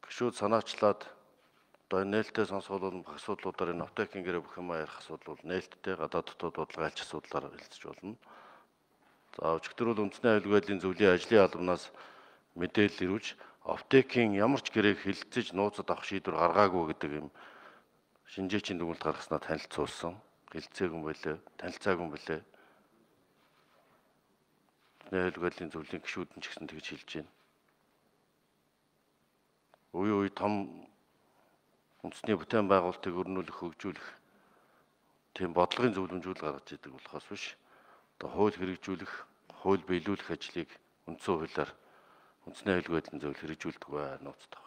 гишүүд санаачлаад одоо нээлттэй сонсголын асуудлуудаар энэ аптекийн гэрээ бүх юм ярих асуудал нээлттэй гадаад дотоод бодлого альч асуудлаар хэлцэж болно. За өчигдөр бол үндэсний аюулгүй байдлын зөвлөлийн ажлын албанаас мэдээлэл ирүүлж аптекийн ямар ч гэрээг хилцэж нууцад авах шийдвэр гаргаагүй гэдэг юм шинжээчийн дүгнэлт гаргаснаа танилцуулсан. Хилцээгүй юм байлээ, танилцаагүй юм байлээ. Аюулгүй байдлын зөвлөлийн гишүүд нь ч гэсэн тэгж хэлж байна. Үе том үндэсний бүтээн байгуулалтыг өрнүүлэх, хөгжүүлэх тийм бодлогын зөвлөмжүүд гаргаж идэг болохоос биш. Одоо хууль хэрэгжүүлэх, хууль биелүүлэх ажлыг үндсэн хуулиар үндэсний аюулгүй байдлын зөвлөл хэрэгжүүлдэг бай нууцтай.